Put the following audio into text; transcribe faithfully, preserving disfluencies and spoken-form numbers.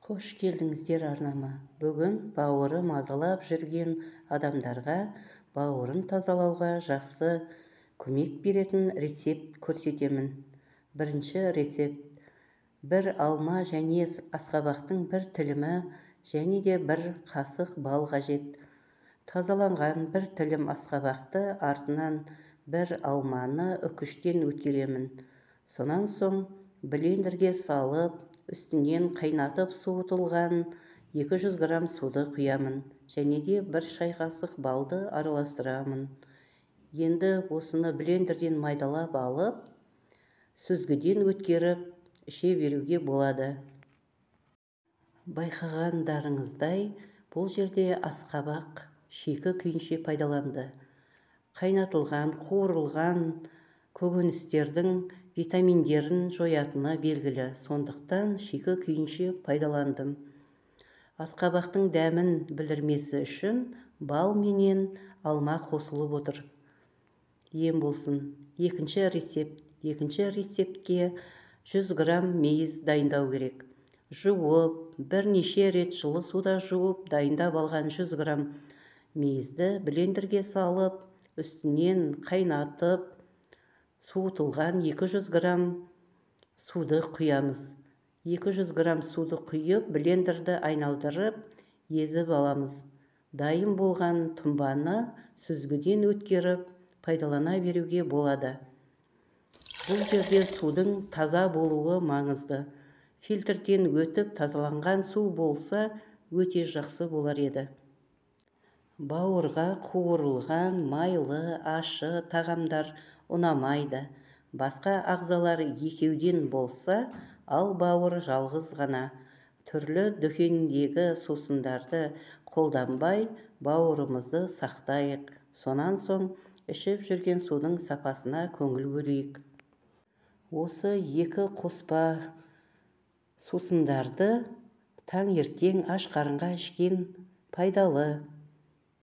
Қош келдіңіздер арнама. Бүгін бауыры мазалап жүрген адамдарға бауырын тазалауға жақсы көмек беретін рецепт көрсетемін. Бірінші рецепт. Бір алма және асқабақтың бір тілімі және де бір қасық бал қажет. Тазаланған бір тілім асқабақты артынан бір алманы үкіштен өткеремін. Сонан соң блендерге салып, үстінен қайнатып суытылған екі жүз грамм суды құямын және де бір шай қасық балды араластырамын. Енді осыны блендерден майдалап алып, сүзгіден өткеріп іше беруге болады. Байқағандарыңыздай, бұл жерде асқабақ шикі күйінше пайдаланды. Қайнатылған, қуырылған көкөністердің витаминдерін жоятыны белгілі, сондықтан шикі күйінше пайдаландым. Асқабақтың дәмін білдірмесі үшін бал менен алма қосылып отыр. Ем болсын. Екінші рецепт. Екінші рецептке жүз грамм мейіз дайындау керек. Жуып, бірнеше рет жылы суда жуып дайындап алған жүз грамм мейізді блендерге салып, үстінен қайнатып суытылған екі жүз грамм суды құямыз. екі жүз грамм суды құйып, блендерді айналдырып, езіп аламыз. Дайын болған тұнбаны сүзгіден өткеріп, пайдалана беруге болады. Бұл жерде судың таза болуы маңызды. Фильтрден өтіп тазаланған су болса, өте жақсы болар еді. Бауырға қуырылған майлы, ашы тағамдар ұнамайды. Басқа ағзалар екеуден болса, ал бауыр жалғыз ғана. Түрлі дүкендегі сусындарды қолданбай, бауырымызды сақтайық. Сонан соң ішіп жүрген судың сапасына көңіл бөлейік. Осы екі қоспа сусындарды таңертең аш қарынға ішкен пайдалы.